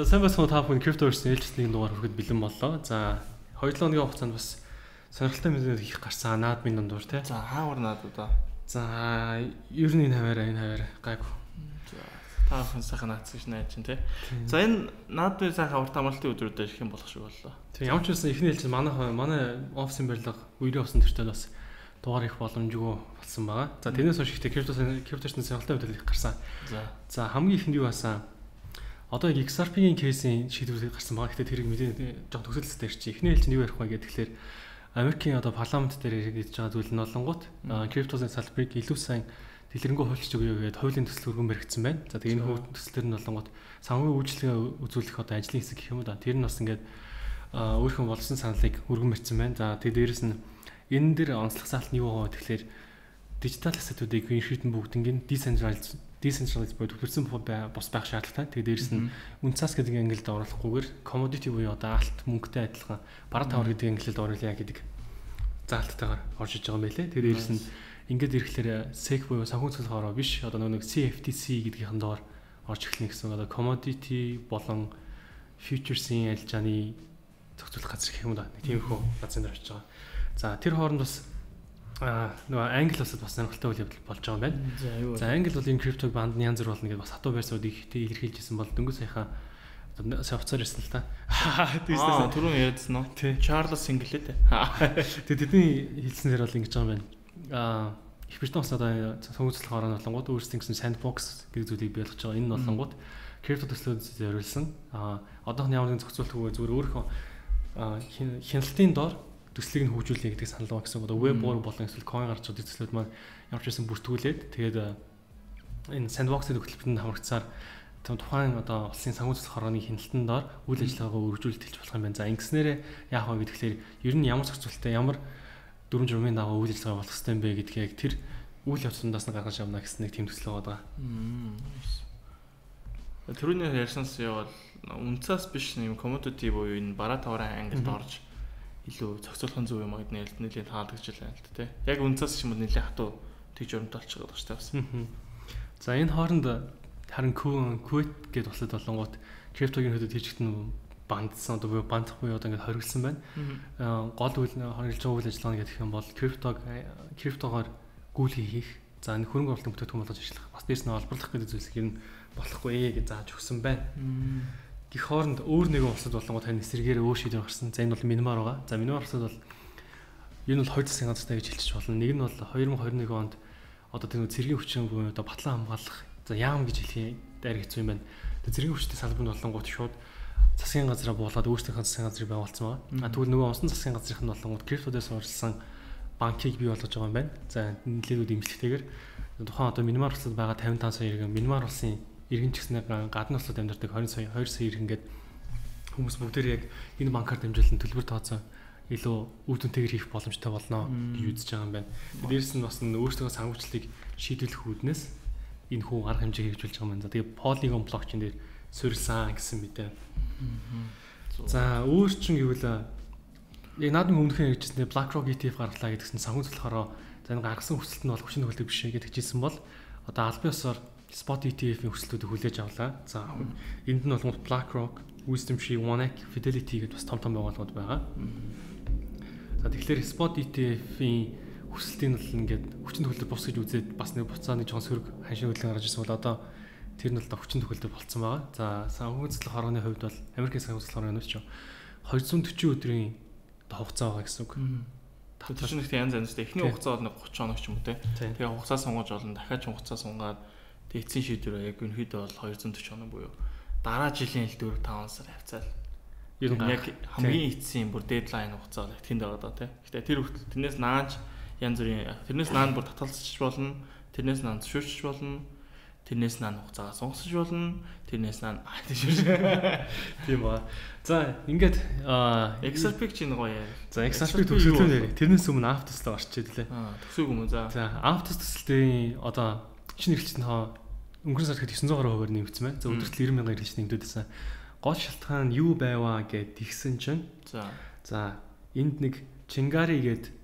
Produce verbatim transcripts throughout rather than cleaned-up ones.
За сайн байна уу та бүхэн Cryptoverse ээлжсний дугаар хүрэхэд бэлэн боллоо. За хоёр долоо хоногийн хугацаанд бас сонирхолтой мэдээлэл их гарсан наадмын дундуур тий. За хаавар наадуудаа. За ер нь энэ хаваараа энэ хаваар гайгүй. За та бүхэн сайхан наадс гэж найж чинь тий. За энэ наадмын сайхан хавар тамалтын өдрүүдэд ирэх юм болох шиг боллоо. Тэг ямар ч байсан эхний хэлж манай манай офисын барилга үерийн усан төртөл бас дугаар их боломжгүй болсон байгаа. За тэрнээс хойш ихтэй Cryptoverse сонирхолтой мэдээлэл их гарсан. За за хамгийн ихэнд юу басан? Одоо икс ар пи-ийн кейсийн шийдвэр гарсан байгаа. Гэхдээ тэрийг мэдээ жоохон төсөөлөлттэй ирчих. Эхний хэлж нь юу ярих вэ гэдэг тэгэхээр Америкийн одоо парламент дээр ирж байгаа зүйл нь олонгууд криптосын салбарыг илүү сайн дэлгэрэнгүй хуульчж өгье гэдэг хуулийн төсөл өргөн баригдсан байна. За тэгээ энэ хууль төслөр нь олонгууд санхүүгийн үйлчлэгээ үзүүлэх одоо ажлын хэсэг гэх юм уу да. Тэр нь бас ингээд өөрийнхөө болсон саналыг өргөн барьсан байна. За тэгээ дээрэс нь энэ дээр онцлог саалт нь юу байгаа вэ тэгэхээр дижитал ассетуудыг ерөнхийдөө бүгднийг decentralized decentralized бодит төрсэн бос байх шаардлагатай. Тэгээд дээрэс нь үнцас гэдэг ангилд оруулахгүйгээр commodity буюу одоо алт мөнгөтэй адилхан бараа тавар гэдэг ангилд оруулъя гэдэг заалттайгаар орж иж байгаа юм байлээ. Тэгээд дээрэс нь ингээд ирэхлээр сек буюу санхүүгийн цэцлэгаараа биш одоо нэг си эф ти си гэдгийнхэн доор орж эхлэх гэсэн одоо commodity болон futures-ийн ялжааны зохицуулах газар гэх юм да. Нэг тиймэрхүү газар дээр очиж байгаа. За тэр хооронд бас а нөгөө англи улсад бас сонирхолтой үйл явдал болж байгаа юм байна. За англи улсын криптог банд нь янз бүр болно гэдээ бас хатуу байрсууд ихтэй илэрхийлжсэн бол дөнгөж саяхан софтвер ирсэн л та. Аа түрүүн ярьдсан уу? Чарлз Синглээ те. Тэгээ тэдний хэлснээр бол ингэж байгаа юм байна. Аа их битэн бас одоо сонгогдсон хооронд болонгууд өөрсдийн гэсэн sandbox гэдэг зүйлийг бий болгож байгаа. Энэ нь болонгууд крипто төслөөд зориулсан. Аа одоохон ямар нэгэн зохицуултгүй зүгээр өөрийнхөө хяналтын дор төслийг нь хөгжүүлнэ гэдэг санал байгаа гэсэн. Одоо веб bốn болон эсвэл coin гарч байгаа төслүүд маань ямар ч байсан бүртгүүлээд тэгээд энэ sandbox-ийн хөтөлбөрөнд хамрагдсаар тухайн одоо улсын санхүү цэцлэг хорооны хяналтанд дор үйл ажиллагаагаа өргөжүүлэлт хийж болох юм байна. За ингэснээрээ яах вэ гэхээр ер нь ямар зохицуулттай ямар дөрвөн журмын дагуу үйл ажиллагаа болох хэрэгтэй юм бэ гэдгийг яг тэр үйл явцсандаас нь гаргаж авна гэсэн нэг тийм төсөл байгаа. Түрүүний ярьсанс явал үнцас биш юм commodity буюу энэ бараа таврын ангилд орж илүү зохицуулахын зөв юм гэдний ялд нэлийн таалагдж байна л да тий. Яг үнцас ч юм уу нэлийн хатуу тэгж өрөмт болчиход байгаа шүү дээ. За энэ хооронд харин Kuwait гэдэг улсад болонгууд криптогийн хөдөд хийжигдэн бандсан одоо бандах буюу одоо ингээд хоригдсан байна. Гол үйл хоригдж байгаа үйл ажиллагаа гэдэг юм бол криптог криптогоор гүйлгээ хийх. За энэ хөрөнгө оруулалтын бүтээгдэхүүн болгож ажиллах. Бас дээрс нь олборлох гэдэг зүйлсийг ер нь болохгүй гэж зааж өгсөн байна. Гэх хооронд өөр нэгэн улсад болонгууд тань эсрэгээр өөр шийдвэр гарсан. За энэ бол Myanmar байгаа. За Myanmar улсад бол энэ бол хоёр засгийн газартай гэж хэлчих болно. Нэг нь бол хоёр мың хоёр mươi нэг онд одоо тэр цэргийн хүчин буюу одоо батлан хамгаалах за яам гэж хэлхий дайр хэцүү юм байна. Тэр цэргийн хүчтэй салбарт болонгууд шууд засгийн газараа буулгаад өөрсдийнхөө засгийн газрыг байгуулсан байгаа. А тэгвэл нөгөө усан засгийн газрын болонгууд криптодээс урьдчилсан банкийг бий болгож байгаа юм байна. За нэлээдүүд имжлэгтэйгээр тухайн одоо Myanmar улсад байгаа тавин таван сая иргэн Myanmar улсын иргэн ч гэснээр гадны улсад амьдардаг хоёр сая хоёр сая иргэн гээд хүмүүс бүгдээр яг энэ банкар дамжуулан төлбөр тооцоо илүү үр дүнтэйгээр хийх боломжтой болно гэж үзэж байгаа юм байна. Дээрээс нь бас өөрсдөө санхүүжлийг шийдвэрлэх үүднээс энэ хүү арга хэмжээ хэрэгжүүлж байгаа юм байна. Тэгээ Polygon блокчейн дээр суурилсан гэсэн мэдээ. За өөр чинь гэвэл яг наадмын өмнөхөн хэрэгжсэн BlackRock и ти эф гаргалаа гэдгсэн санхүүжлэх хороо за энэ гаргасан хүсэлт нь бол хүчин төгөлдөг биш гэж хэлсэн бол одоо албан ёсоор Spot и ти эф-ийн хүслүүдийг хүлээж авлаа. За энд нь болгоод BlackRock, WisdomTree, OneAct, Fidelity гэдэг бас том том байгууллагууд байгаа. За тэгэхээр Spot и ти эф-ийн хүсэлтийн бол ингээд хүчин төгөлдөр бус гэж үзээд бас нэг буцаа нэг жоон сөрөг ханшийн хөдөлгөөн гарч ирсэн бол одоо тэр нь бол хүчин төгөлдөр болцсон байгаа. За санхүүгийн цэцлэг хорооны хувьд бол Америкийн санхүүгийн цэцлэг хорооны ч двести40 өдрийн хугацаа байгаа гэсэн үг. Тэр чинь их янз янзтай. Эхний хугацаа бол нэг тридцать хоног ч юм уу те. Тэгээ хугацаа сунгаж болно. Дахиад хугацаа сунгаад эцсийн шийдвэр яг өнөхөдөө бол двести forty хоног буюу дараа жилийн л four five сар хавцаал. Ер нь яг хамгийн эцсийн бүр дедлайн хугацаа бол тэнд байгаа даа тий. Гэтэ тэр хүртэл тэрнээс нааж янз бүрийн тэрнээс наан бүр татгалзчих болно. Тэрнээс наан зөвшөөрч болно. Тэрнээс наан хугацаагаа сунгасч болно. Тэрнээс наан тийш. Тийм ба. За ингээд икс ар пи чинь гоё яа. За икс ар пи төсөлтөө нэр. Тэрнээс өмнө Aptos л орчиж идлээ. Аа төсөөг юм за. За Aptos төсөлтийн одоо шинэ хэрэглэгчийн тоо өнгөрсөн сард девятьсот хувиар нэмэгдсэн байна. За өдөрт ninety мянган хэрэглэгч нэмэгдсэн. Гол шалтгаан нь юу байваа гэд тэгсэн чинь. За. За энд нэг Chingari гээд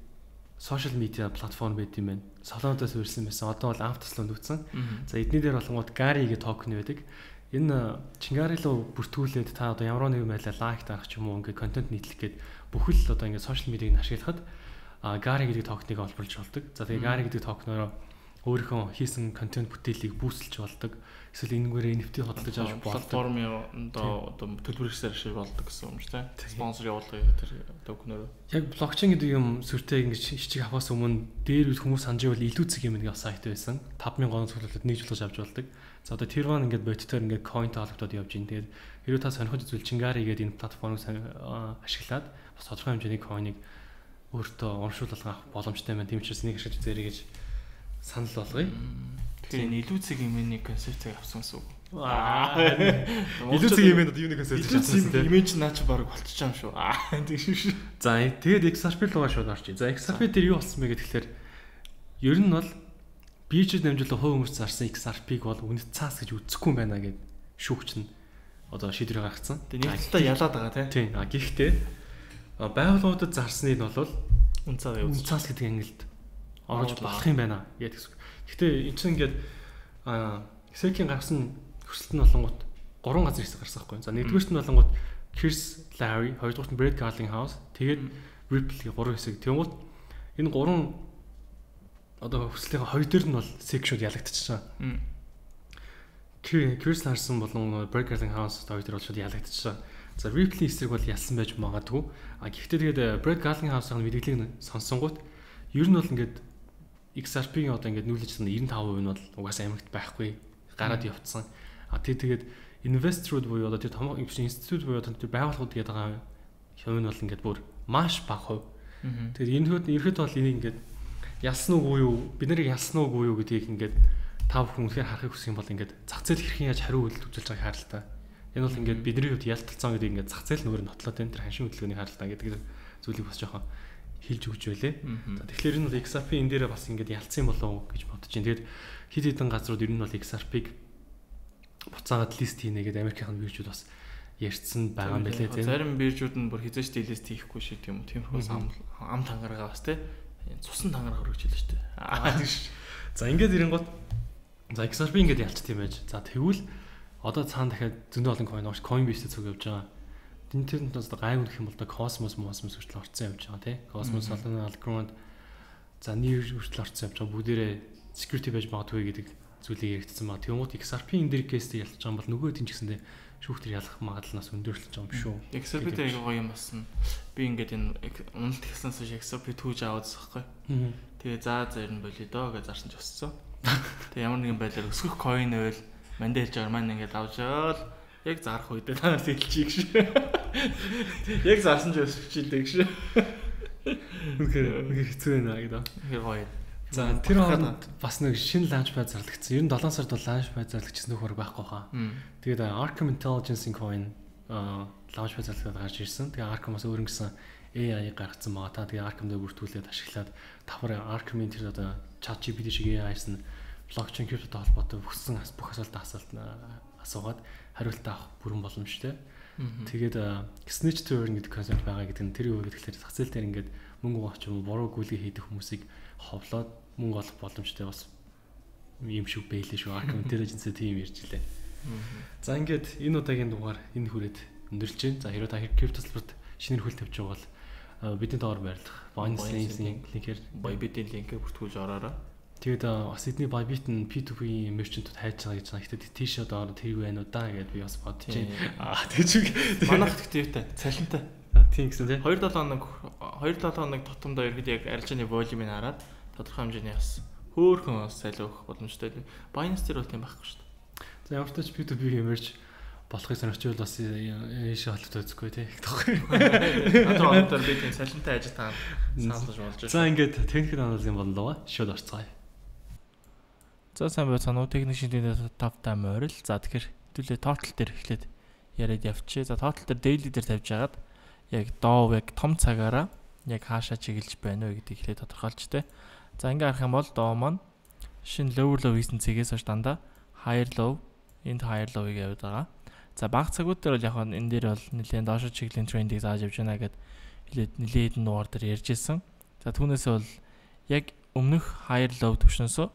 сошиал медиа платформ байт юм байна. Солоноос урьсан байсан. Одоо бол Aptos л өндөгдсөн. За эдний дээр болгонгууд Gary гэх токен байдаг. энэ Чингари руу бүртгүүлээд та одоо ямар нэгэн байдлаар лайк дарах ч юм уу ингээд контент нийтлэх гээд бүхэл одоо ингээд сошиал медиаг ашиглахад Gary гэдэг токеныг олборлж болдог. За тэгээ Gary гэдэг токеноор өөрийнхөө хийсэн контент бүтээлийг бүүсэлж болдог. Эсвэл энэгээр эн эф ти хөдөлж авч болдог. Платформын одоо одоо төлбөрөөр ашиг болдог гэсэн юм шүү дээ. Спонсор явуулгыг тэр токеноор. Яг блокчейн гэдэг юм сүртэй ингэж хичиг авахаас өмнө дээр үед хүмүүс санаж байвал илүү цэг юм нэг сайт байсан. тавь мянган цуглуулад нэг жуулгаж авч болдог. За одоо тэр маань ингээд бодитоор ингээд coinтэй холбогдоод явж байна. Тэгээд хэрвээ та сонирхож үзвэл Чингари гэдэг энэ платформыг ашиглаад бас тодорхой хэмжээний coin-ыг өөртөө урамшуулалт авах боломжтой байна. Тийм учраас нэг ашиглаж үзээрэй гэж санал болгоё. Тэгэхээр илүү цэг имэний концепцийг авсан гэсэн үг. Аа. Илүү цэг имэн одоо юу нэг концепц авсан тийм. Имэж наач баг болчихж байгаа юм шүү. Аа тийм шүү. За тэгээд X R P руугаа шууд орчих. За X R P дээр юу болсон бэ гэхээр ер нь бол биржид намжуулах хувь хүмүүс зарсан X R P-г бол үнэт цаас гэж үзэхгүй байна гэд шүүгч нь одоо шийдвэр гаргацсан. Тэгээд нэг талаа ялаад байгаа тийм. А гэхдээ байгууллагуудад зарсныг нь бол үн цаас үн цаас гэдэг ангилд орж болох юм байна гэдэг гэсэн. Гэхдээ энэ чинь ингээд а Сэкийн гаргасан хүсэлт нь болонгууд гурван газар хэсэг гарсан байхгүй. За нэгдүгээрт нь болонгууд Chris Larry, хоёрдугаарт нь Brett Garlinghouse, тэгээд Ripple гурван хэсэг. Тэгмүүд энэ гурван одоо хүслийн хоёр дээр нь бол секшүүд ялагдчихсан. Chris Larson болон Brett Garlinghouse хоёр дээр бол шууд ялагдчихсан. За Ripple-ийн эсрэг бол ялсан байж магадгүй. А гэхдээ тэгээд Brett Garlinghouse-ын мэдээллийг сонсонгууд ер нь бол ингээд X R P-ийн одоо ингээд нүүлж байгаа девяносто пять процент нь бол угаасаа Америкт байхгүй гараад явцсан. А тий тэгээд инвесторууд буюу одоо тэр том институт буюу одоо тэр байгууллагууд гэдэг байгаа юм нь бол ингээд бүр маш бага хувь. Тэгээд энэ хэд ерхэд бол энийг ингээд ялсан уугүй юу бид нарыг ялсан уугүй юу гэдгийг ингээд та бүхэн үнэхээр харахыг хүсэх юм бол ингээд зах зээл хэрхэн яаж хариу үйлдэл үзүүлж байгааг харалтаа. Энэ бол ингээд бидний хувьд ялталцсан гэдэг ингээд зах зээл нүүр нь нотлоод энэ тэр ханшийн хөдөлгөөнийг харалтаа гэдэг зүйлийг бас жоохон хэлж өгч байлээ. За тэгэхээр энэ бол X R P энэ дээрээ бас ингээд ялцсан болов гэж бодож байна. Тэгээд хэд хэдэн газрууд ер нь бол X R P-г буцаагаад лист хийнэ гэдэг Америкийн биржүүд бас ярьсан байгаа юм байлээ тийм. Зарим биржүүд нь бүр хизээч лист хийхгүй шиг тийм үү. Тиймэрхүү ам тангараа бас тийм. Цусан тангараа хөргөж хэлж штэ. Аа тийм ш. За ингээд ирэнгууд за X R P ингээд ялцт юм байж. За тэгвэл одоо цаана дахиад зөндөө олон coin орч Coinbase-д цуг явж байгаа. Тин тэрнээс одоо гайг гэх юм бол Cosmos Mosmos хүртэл орцсон явж байгаа тийм. Cosmos Solana Algorand за нэр хүртэл орцсон явж байгаа. Бүгдээрээ security байж магадгүй гэдэг зүйлийг яригдсан ба. Тэгмүүд X R P энэ дэр кейстэй ялж байгаа бол нөгөө тийм ч гэсэндээ шүүхтэр ялах магадлалаас өндөөрлөж байгаа юм шүү. X R P-тэй аяга гоё юм басна. Би ингээд энэ уналт ихсэн сууж X R P түүж аваад байгаа байхгүй. Тэгээ заа зарна болё доо гэж зарсан ч өссөн. Тэгээ ямар нэгэн байдлаар өсгөх coin байвал мандаа хэлж байгаа маань ингээд авчаал яг зарах үедээ та нар сэлчихийг ш. Яг зарсан ч өсчихилдэг ш. Үнэхээр үнэхээр хэцүү байна гэдэг. Тэгэхээр гоё. За тэр хооронд бас нэг шинэ launchpad зарлагдсан. Ер нь долоон сард бол launchpad зарлагдчихсан нөхөр байхгүй хаа. Тэгээд Arkham Intelligence-ийн coin launchpad зарлагдаад гарч ирсэн. Тэгээд Arkham бас өөр нэгсэн A I гаргацсан байгаа. Та тэгээд Arkham дээр бүртгүүлээд ашиглаад давхар Arkham-ийн тэр одоо ChatGPT шиг A I-сэн блокчейн криптотой холбоотой бүхсэн бүх асуултаа асуулт асуугаад хариулт авах бүрэн боломжтой. Тэгээд snitch to earn гэдэг концепт байгаа гэдэг нь тэр юу гэхээр зах зээл дээр ингээд мөнгө авах юм буруу гүйлгээ хийдэг хүмүүсийг ховлоод мөнгө олох боломжтой бас юм шиг байлээ шүү. Arkham Intelligence тийм ярьж илээ. За ингээд энэ удаагийн дугаар энэ хүрээд өндөрлж байна. За хэрвээ та крипто салбарт шинээр хөл тавьж байгаа бол бидний доор байрлах Binance-ийн линкээр Bybit-ийн линкээр бүртгүүлж ороорой. Тэгээд бас эдний Bybit нь P two P merchant-ууд хайж байгаа гэж байна. Гэхдээ тийш одоо тэрийг байна уу даа гэдээ би бас бодож байна. Аа тэгж манайх гэхдээ цалинтай. Тийм гэсэн тий. two seven хоног two seven хоног тутамдаа ерөөд яг арилжааны волюмыг хараад тодорхой хэмжээний бас хөөхөн бас салиу өгөх боломжтой. Binance дээр бол тийм байхгүй шүү дээ. За ямар ч тач P two P merge болохыг сонирч байвал бас ийш холбоотой үзэхгүй тий. Одоо одоо би тийм салинтай ажил таа саалж болж байна. За ингээд техникийн анализын боллоо. Шууд орцгоё. За сайн байцгаана уу техник шинжилгээ тавтай морил. За тэгэхээр хэдүүлээ total дээр эхлээд яриад явчих. За total дээр daily дээр тавьж хагаад яг доо яг том цагаараа яг хаашаа чиглэж байна вэ гэдгийг эхлээд тодорхойлж тээ. За ингээ харах юм бол доо маань шинэ lower low хийсэн цэгээс хойш дандаа higher low энд higher low-ыг яваад байгаа. За баг цагууд дээр бол яг энэ дээр бол нэлээд доошо чиглийн трендийг зааж явж байна гэд нэлээд нэлээд нуур дээр ярьж ирсэн. За түүнээсээ бол яг өмнөх higher low түвшнөөсөө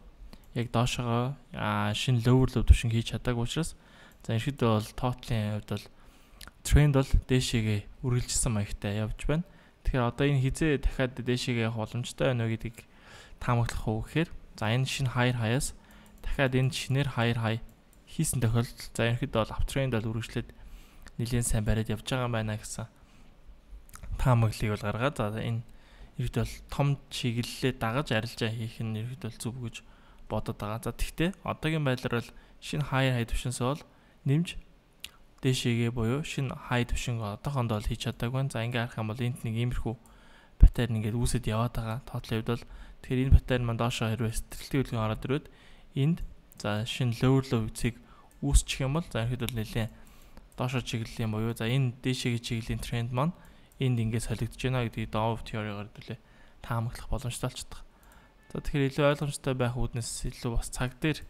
яг доошогоо шинэ lower low түвшин хийж чадаагүй учраас За ерөөдөө бол тоотлын хувьд бол тренд бол дээшээгээ үргэлжилсэн маягтай явж байна. Тэгэхээр одоо энэ хизээ дахиад дээшээгээ явах боломжтой байна уу гэдгийг таамаглах уу гэхээр за энэ шинэ higher high-аас дахиад энэ шинээр higher high хийсэн тохиолдолд за ерөөдөө бол uptrend бол үргэлжлээд нэлээд сайн бариад явж байгаа юм байна гэсэн таамаглалыг бол гаргаад за энэ ерөөдөө бол том чиглэлээ дагаж арилжаа хийх нь ерөөдөө бол зүв гэж бодод байгаа. За тэгтээ одоогийн байдлаар бол шинэ higher high түвшинсээ бол нэмж дээшээгээ буюу шинэ high түвшинг одоохондоо бол хийж чадаагүй байна. За ингээ харах юм бол энд нэг иймэрхүү паттерн ингээд үүсэт яваад байгаа. Тоотлын хувьд бол тэгэхээр энэ паттерн маань доошоо хэрвээ сэтгэлтэй үлгэн ороод ирээд энд за шинэ lower low цэг үүсчих юм бол за ихэд бол нэлээд доошоо чиглэлийн буюу за энэ дээшээгээ чиглэлийн тренд маань энд ингээд солигдож байна гэдгийг Dow теоригаар хэлээ таамаглах боломжтой болчихдог. За тэгэхээр илүү ойлгомжтой байх үүднээс илүү бас цаг дээр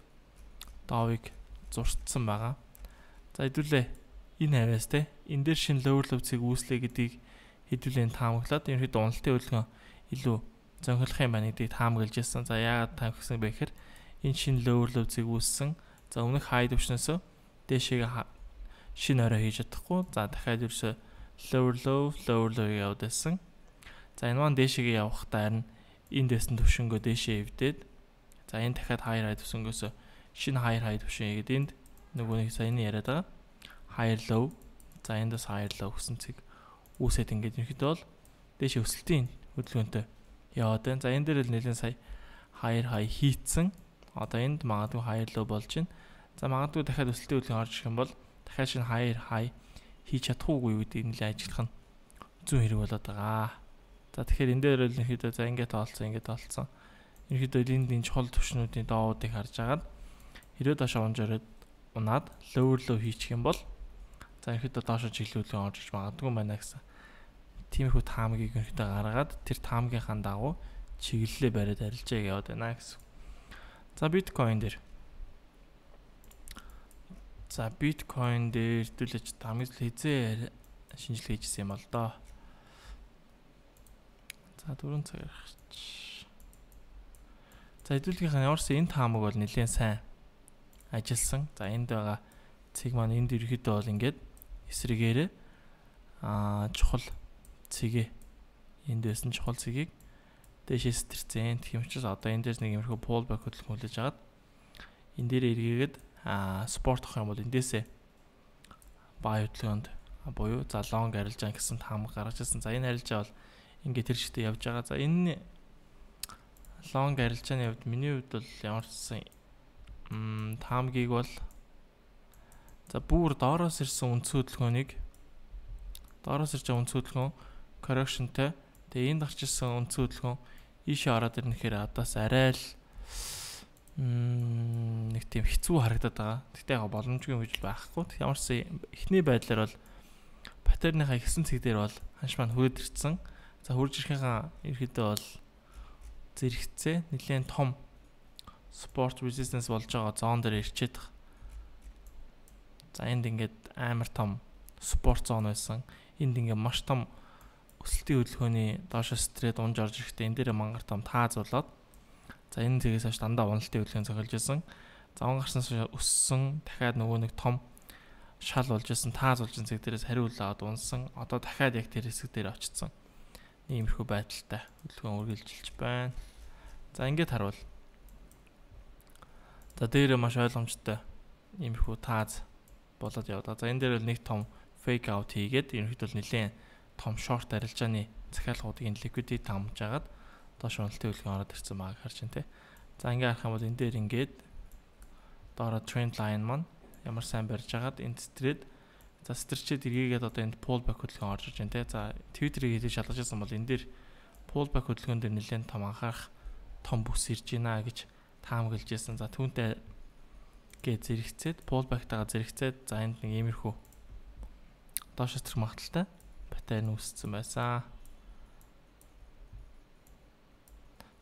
Dow-ыг зурцсан байгаа. За хэдүүлээ энэ хавьяас те энэ дээр шинэ lower low цэг үүслэе гэдгийг хэдүүлээ таамаглаад ерөнхийдөө уналтын хөдөлгөөн илүү зөнхөлөх юм байна гэдгийг таамаглаж ирсэн. За яагаад таамагсан бэ гэхээр энэ шинэ lower low цэг үүссэн. За өмнөх high түвшнээс дээшээгээ шинэ орой хийж чадахгүй. За дахиад ерөөсө lower low lower low яваад байсан. За энэ маань дээшээгээ явахдаа харин энэ дэсэн түвшингөө дээшээ эвдээд за энэ дахиад higher high түвшингөөс шинэ higher high түвшин игээд энд нөгөө нэг саяны яриад байгаа higher low за эндээс higher low гэсэн цэг үүсээд ингээд ерөнхийдөө бол дээш өсөлтийн хөдөлгөөнтэй яваад байна. За энэ дээр л нэлээд сая higher high хийцэн одоо энд магадгүй higher low болж байна. За магадгүй дахиад өсөлтийн хөдөлгөөн орж ирэх юм бол дахиад шинэ higher high хийж чадахгүй юу гэдгийг нэлээд ажиллах нь зүүн хэрэг болоод байгаа. За тэгэхээр энэ дээр л ерөнхийдөө за ингээд тоолцсон ингээд тоолцсон. Ерөнхийдөө энд энэ чухал түвшнүүдийн доодыг харж агаад хэрвээ доошоо унжаад унаад lower low хийчих юм бол за ерөнхийдөө доошоо чиглүүлэн орж иж магадгүй байна гэсэн. Тиймэрхүү таамагийг ерөнхийдөө гаргаад тэр таамагийнхаа дагуу чиглэлээ бариад арилжаа яваад байна гэсэн. За биткойн дээр. За биткойн дээр хэдүүлж таамаг хийзээ шинжилгээ хийжсэн юм бол доо. За дөрөв цаг гаргач. За хэдүүлгийнхаа ямарсан энэ таамаг бол нэлээд сайн ажилласан. За энд байгаа цэг маань энд ерөөхдөө бол ингээд эсрэгээрээ аа чухал цэгээ энд байсан чухал цэгийг дээшээ сэтэрсэн. Тийм учраас одоо энэ дээр нэг юмрхүү pullback хөдөлгөөн хүлээж агаад энэ дээр эргээгээд аа спорт авах юм бол эндээсээ buy хөдөлгөөнд буюу за long арилжаа гэсэн таамаг гаргаж ирсэн. За энэ арилжаа бол ингээд тэр шигтээ явж байгаа. За энэ long арилжааны хувьд миний хувьд бол ямар ч м таамгийг бол за бүр доороос ирсэн үндс хөдөлгөөнийг доороос ирж байгаа үндс хөдөлгөөн correctionтэй тэгээ энд гарч ирсэн үндс хөдөлгөөн ийшээ ороод ирнэхээр адаас арай л м нэг тийм хэцүү харагдаад байгаа. Тэгтээ яг боломжгүй гэж байхгүй. Ямар ч эхний байдлаар бол паттерныхаа ихсэн цэг дээр бол ханш маань хүрээд ирсэн. За хурж ирэхийнхаа ерөөдөө бол зэрэгцээ нэлээд том support resistance болж байгаа зон дээр ирчээд байгаа. За энд ингээд амар том support зон байсан. Энд ингээд маш том өсөлтийн хөдөлгөөний доошо стрээд унж орж ирэхдээ энэ дээр мангар том тааз болоод за энэ цэгээс хойш дандаа уналтын хөдөлгөөн цохилж исэн. За он гарснаас өссөн дахиад нөгөө нэг том шал болж исэн тааз болж исэн цэг дээрээс хариулаад унсан. Одоо дахиад яг тэр хэсэг дээр очсон. Иймэрхүү байдалтай хөдөлгөөн үргэлжилж байна. За ингээд харуул. За дээр маш ойлгомжтой иймэрхүү тааз болоод явдаг. За энэ дээр бол нэг том fake out хийгээд ерөнхийдөө нэлээд том short арилжааны захиалгуудыг liquidity тамж агаад доош уналтын хөдөлгөөн ороод ирсэн байгааг харж байна те. За ингээ харах юм бол энэ дээр ингээд доороо trend line маань ямар сайн барьж агаад энд стрээд за стрчээд эргээгээд одоо энд pullback хөдөлгөөн орж иж байна те. За Twitter-ийг хэлж шалгаж байсан бол энэ дээр pullback хөдөлгөөн дээр нэлээд том анхаарах том бүс ирж байна гэж таамаглаж байсан. За түүнтэй гээ зэрэгцээд pullback-тайгаа зэрэгцээд за энд нэг иймэрхүү доош стрэх магадaltaй паттерн үүссэн байсан.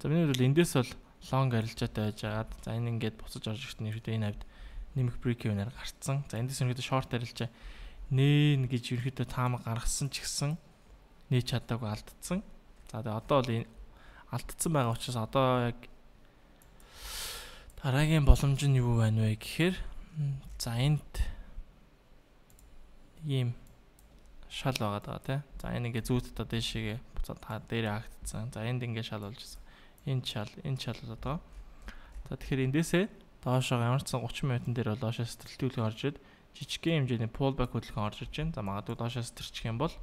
За миний хувьд эндээс бол long арилжаатай байж агаад за энэ ингээд буцаж орж ирэхдээ ерөөдөө энэ хавьд нэмэх break-even-аар гарцсан. За эндээс ерөөдөө short арилжаа нээн гэж ерөөдөө таамаг гаргасан ч гэсэн нээж чадаагүй алдсан. За тэгээ одоо бол энэ алдсан байгаа учраас одоо яг дараагийн боломж нь юу байна вэ гэхээр за энд ийм шал байгаа даа тий. За энэ ингээ зүүтдээ дэшигээ буцаад та дээрээ хагдсан. За энд ингээ шал болж байна. Энэ шал, энэ шал болоод байгаа. За тэгэхээр эндээсээ доошоо ямар ч сан thirty минутын дээр бол доошоо сэтэрхтүүлэг орж ирээд жижигхэн хэмжээний pullback хөдөлгөөн орж иж байна. За магадгүй доошоо сэтэрчих юм бол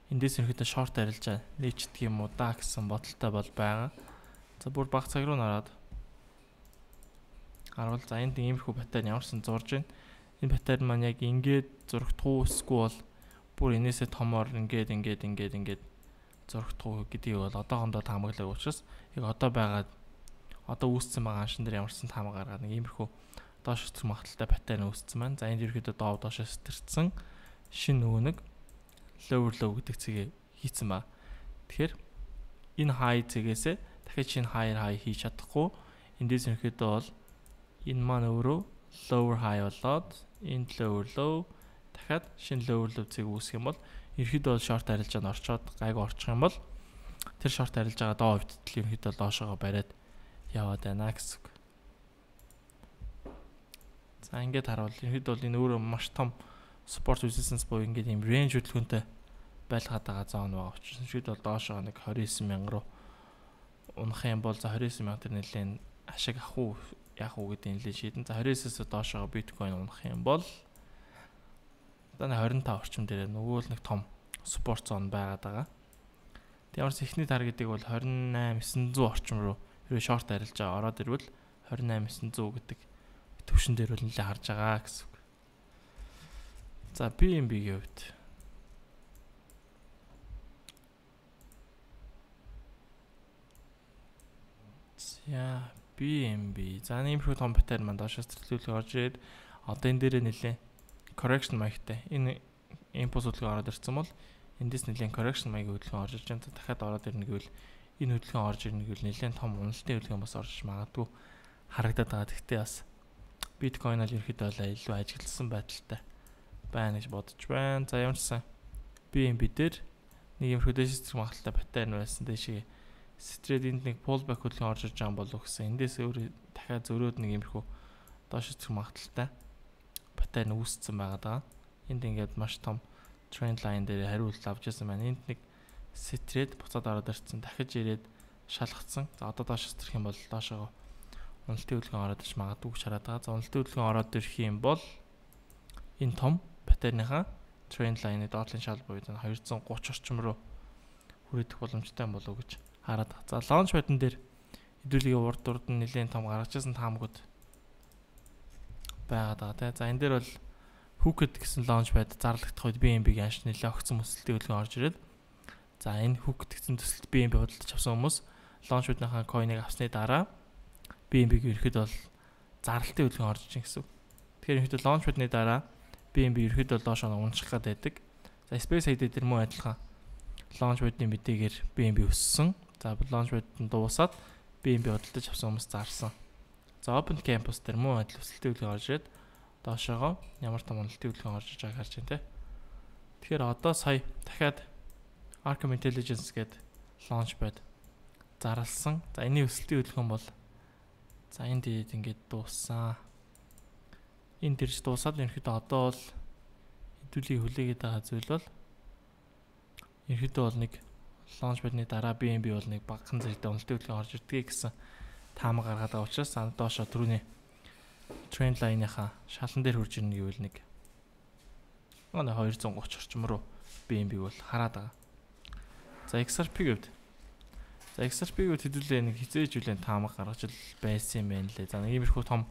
эндээс ерөөхдөө short арилжаа нээчдэг юм уу да гэсэн бодолтой бол байгаа. За бүр баг цаг руу нараад харвал за энд иймэрхүү паттерн ямарсан зурж байна. Энэ паттерн маань яг ингээд зургтгуу эсвэл бол бүр энээсээ томоор ингээд ингээд ингээд ингээд зургтгуу гэдгийг бол одоохондоо таамаглаг учраас яг одоо байгаа одоо үүссэн байгаа аншин дээр ямарсан таамаг гаргаад нэг иймэрхүү доош сэтэрх магадaltaй паттерн үүссэн маань. За энд ерөөхдөө доо доошоо сэтэрсэн шин нөгөө нэг lower low гэдэг цэгээ хийцэн ба. Тэгэхээр энэ high цэгээсээ дахиад шинэ higher high хийж чадахгүй. Эндээс ерөөхдөө бол энэ маань өөрөө lower high болоод энэ lower low дахиад шинэ lower low цэг үүсэх юм бол ерөөхдөө бол short арилжаанд орчоод гайгүй орчих юм бол тэр short арилжаагаа доо хөвдөл ерөөхдөө доошоогоо бариад яваад байна гэсэн. За ингээд харуул ерөөхдөө бол энэ өөрөө маш том support resistance буюу ингээд юм range хөдөлгөөнтэй байлгаад байгаа зоон байгаа учраас ерөөхдөө бол доошоо нэг twenty nine мянга руу унах юм бол за twenty nine мянга төр нэлээд ашиг ах уу яах уу гэдэг нэлээд шийдэн. За twenty nine-аас доошоо биткойн унах юм бол одоо twenty-five орчим дээр нөгөө л нэг том support zone байгаад байгаа. Тэгмээс эхний таргетыг бол twenty-eight nine hundred орчим руу ерөө short арилжаа ороод ирвэл twenty-eight nine hundred гэдэг төвшин дээр бол нэлээд харж байгаа гэсэн. За би эм би-ийн хувьд за би эм би за нэмэрхүү том паттерн маань доошоос төлөвлөлт орж ирээд одоо энэ дээрээ нэлээд correction маягтай энэ импульс хөдөлгөөн ороод ирсэн бол эндээс нэлээд correction маягийн хөдөлгөөн орж ирж байгаа. Дахиад ороод ирнэ гэвэл энэ хөдөлгөөн орж ирнэ гэвэл нэлээд том уналтын хөдөлгөөн бас орж магадгүй харагдаад байгаа. Гэхдээ бас биткойн ал ерөөхдөө л илүү ажигласан байдалтай байна гэж бодож байна. За ямарсан би эм би дээр нэг юм хөдөөж сэтэрх магадaltaй паттерн байсан дэшээ стрейт энд нэг pullback хөдөлгөөн орж ирж байгаа болов гэсэн. Эндээс өөр дахиад зөрөөд нэг юмрхүү доош сэтэрх магадaltaй паттерн үүссэн байгаа даа. Энд ингээд маш том trend line дээр хариулт авч ирсэн байна. Энд нэг стрейт буцаад ороод ирсэн. Дахиж ирээд шалгацсан. За одоо доош сэтэрх юм бол доошоо уналтын хөдөлгөөн ороод ирж магадгүй гэж хараад байгаа. За уналтын хөдөлгөөн ороод ирэх юм бол энэ том паттерныхаа trend line-ы доотлын шал буюу two thirty орчим руу хүрэх боломжтой юм болов уу гэж хараад байгаа. За launch pad-н дээр хэдүүлгийн урд урд нь нэлээд том гаргаж ирсэн таамагуд байгаад байгаа тийм. За энэ дээр бол hooked гэсэн launch pad зарлагдах үед би эм би-ийн анш нэлээд огцсон өсөлтийн хөдөлгөөн орж ирээд за энэ hooked гэсэн төсөлт би эм би худалдаж авсан хүмүүс launch pad-ныхаа coin-ыг авсны дараа би эм би-г ерөөхдөө бол зарлалтын хөдөлгөөн орж ийн гэсэн. Тэгэхээр ерөөхдөө launch pad-ны дараа би эм би ерөөхдөө доошоо унчих гээд байдаг. За space head дээр мөн адилхан launch pad-ны мэдээгээр би эм би өссөн. За launch pad нь дуусаад би эм би худалдаж авсан хүмүүс зарсан. За open campus дээр мөн адил өсөлтийн хөдөлгөөн орж ирээд доошоогоо ямар том уналтын хөдөлгөөн орж иж байгааг харж байна те. Тэгэхээр одоо сая дахиад Arkham Intelligence гээд launch pad зарлсан. За энэний өсөлтийн хөдөлгөөн бол за энд дээд ингээд дууссан. Энэ дэрж дуусаад ерөөхдөө одоо бол хэдүүлийг хүлээгээд байгаа зүйл бол ерөөхдөө бол нэг launch pad-ны дараа би эм би бол нэг багахан зэрэгтэй уналтын хөдөлгөөн орж ирдэг гэсэн таамаг гаргаад байгаа учраас доошоо түрүүний trend line-ийнхаа шалан дээр хурж ирнэ гэвэл нэг манай two thirty орчим руу би эм би бол хараад байгаа. За икс ар пи гэвд. За икс ар пи гэвд хэдүүлээ нэг хизээж үлэн таамаг гаргаж л байсан юм байна лээ. За нэг иймэрхүү том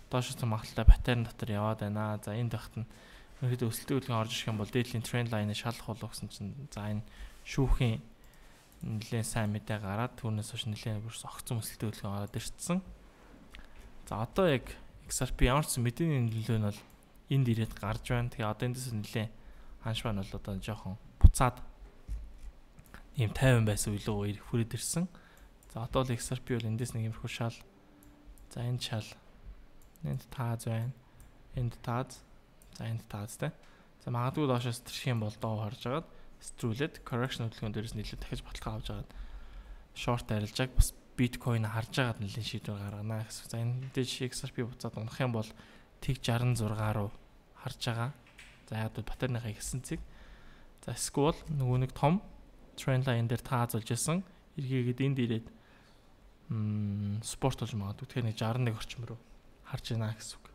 доошоос магадaltaй паттерн дотор яваад байна. За энэ тахт нь ерөөдөө өсөлтийн хөдөлгөөн орж ирэх юм бол дээдлийн trend line-ыг шалах болов гэсэн чинь за энэ шүүхийн нэлээд сайн мэдээ гараад түүнээс хойш нэлээд бүрс огцон өсөлтийн хөдөлгөөн ороод ирсэн. За одоо яг икс ар пи ямар ч мэдээний нөлөө нь бол энд ирээд гарч байна. Тэгээ одоо эндээс нэлээд ханш байна бол одоо жоохон буцаад ийм тайван байсан үеийн хүрээд ирсэн. За одоо л икс ар пи бол эндээс нэг юмрхүү шал. За энэ шал энд тааз байна. Энд тааз. За энд таазтай. За магадгүй доошоос тэрх юм бол доо харж агаад стрүүлээд correction хөдөлгөөн дээрээс нэлээд дахиж баталгаа авч агаад short арилжааг бас биткойн харж агаад нэлээд шийдвэр гаргана гэсэн. За энэ дэж икс ар пи буцаад унах юм бол тэг sixty-six руу харж байгаа. За яг бол паттерныхаа ихсэн цэг. За эсвэл нөгөө нэг том trend line дээр таазуулж исэн эргээгээд энд ирээд м спорт болж магадгүй. Тэгэхээр нэг шестдесет нэг орчим руу харж байна гэсэн үг.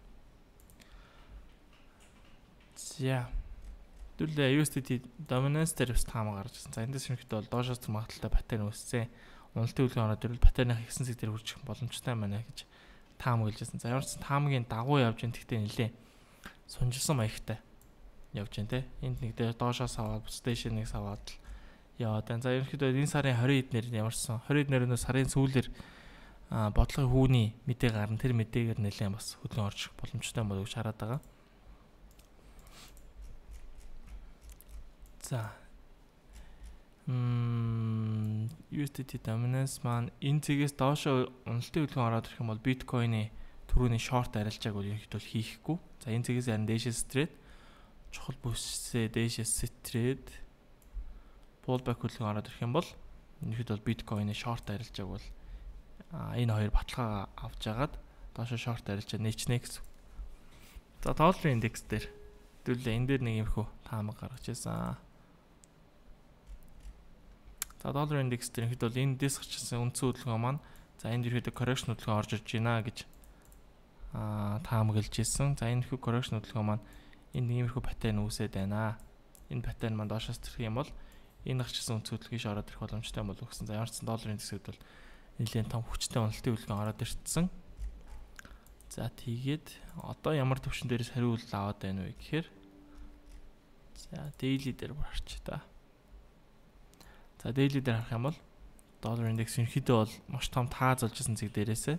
За дүүлээ ю эс ди ти dominance дээр бас таамаг гарч ирсэн. За эндээс ерөнхийдөө бол доошоос магадaltaй паттерн үүссэн. Уналтын үлгэн ороод ирвэл паттерных ихсэн зэг дээр хүрчих боломжтой байна гэж таамаг хэлжсэн. За ямар ч таамагийн дагуу явж ин гэхдээ нэлээ сунжилсан маягтай явж байна те. Энд нэг дээр доошоос аваад стейшнийг аваад яваад байна. За ерөнхийдөө энэ сарын двадцать эднэр ямарсан двадцать эднэр сарын сүүлээр бодлогын хүүний мэдээ гарна. Тэр мэдээгээр нэлээ бас хөдлөн орчих боломжтой болов гэж хараад байгаа. За м ю эс ди ти dominance маань энэ цэгээс доошо уналтын үлгэн ороод ирэх юм бол биткойны түрүүний short арилжааг бол ерөнхийдөө хийхгүй. За энэ цэгээс харин дээшээс trade чухал бүсээ дээшээс trade pullback үлгэн ороод ирэх юм бол ерөнхийдөө биткойны short арилжааг бол энэ хоёр баталгаа авч агаад доошо short арилжаа нээчнэ гэсэн. За долларын индекс дээр хэдүүлээ энэ дээр нэг юмхүү таамаг гаргаж ирсэн. За долларын индекс дээр хэд бол энэ дэс гарчсан үндсэн хөдөлгөөн маань за энд ерөөдөө correction хөдөлгөөн орж ирж байна гэж аа таамаглаж ирсэн. За энэ хүү correction хөдөлгөөн маань энэ иймэрхүү паттерн үүсээд байна. Энэ паттерн маань доошоос төрөх юм бол энэ гарчсан үндсэн хөдөлгөөш ороод ирэх боломжтой болов гэсэн. За ямар ч сан долларын индексэд бол нэлээд том хүчтэй уналтын хөдөлгөөн ороод ирсэн. За тийгээд одоо ямар төвшин дээрээс хариулт аваад байна вэ гэхээр за daily дээр барч та. За daily дээр харах юм бол доллар индекс ерөнхийдөө бол маш том тааз олж исэн зэг дээрээсээ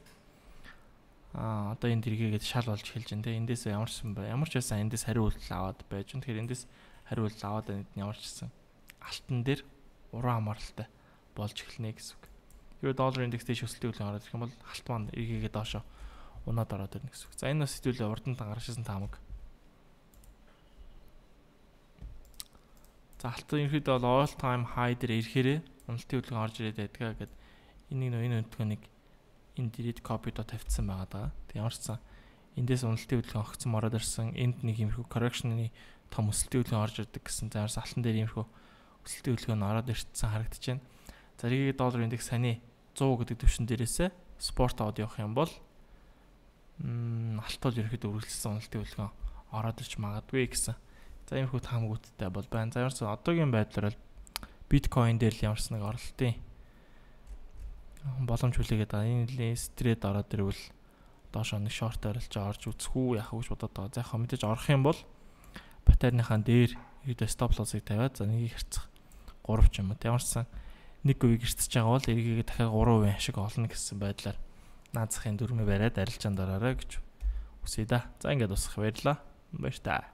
аа одоо энд эргээгээд шал болж эхэлж байна те. Эндээс ямар ч юм бэ? Ямар ч байсан эндээс хариулт аваад байж. Тэгэхээр эндээс хариулт аваад байна ямар ч гэсэн алтан дээр уран хамааралтай болж эхэлнэ гэсэн үг. Юу доллар индекс дэш өсөлтийн үлгэн ороод ирэх юм бол алт маань эргээгээд доошо унаад ороод ирнэ гэсэн үг. За энэ бас хэдүүлээ урд нь гаргажсэн таамаг. За алтан ерөнхийдөө бол all time high дээр ирэхээрээ уналтын хөдөлгөөн орж ирээд байдгаа гэдэг энийг нөө энэ хөдөлгөөнийг энд ирээд copy-доо тавьчихсан байгаа даа. Тэг ямар ч сан эндээс уналтын хөдөлгөөн огцсон ороод ирсэн. Энд нэг иймэрхүү correction-ы том өсөлтийн хөдөлгөөн орж ирдэг гэсэн. За ярс алтан дээр иймэрхүү өсөлтийн хөдөлгөөн ороод ирсэн харагдаж байна. За эргээд доллар индекс саяны сто гэдэг төвшин дээрээсээ спорт аваад явах юм бол м алт бол ерөөхдөө үргэлжлсэн уналтын хөдөлгөөн ороод ирч магадгүй гэсэн. За иймэрхүү таамагуудтай бол байна. За ямарсан одоогийн байдлаар бол биткойн дээр л ямарсан нэг оролтын боломж хүлээгээд байгаа. Энэ стрейд ороод ирвэл доош нэг шорт арилж орж үзэх үү яах вэ гэж бодоод байгаа. За яг мэдээж орох юм бол паттерныхаа дээр ерөөдөө стоп лоссыг тавиад за нэгийг хэрцэх гурав ч юм уу. Ямарсан нэг үеийг хэрцэж байгаа бол эргээгээ дахиад гурав хувийн ашиг олно гэсэн байдлаар наазахын дөрмөө бариад арилжаанд ороорой гэж үсэе да. За ингээд усах баярлаа. Баяр та.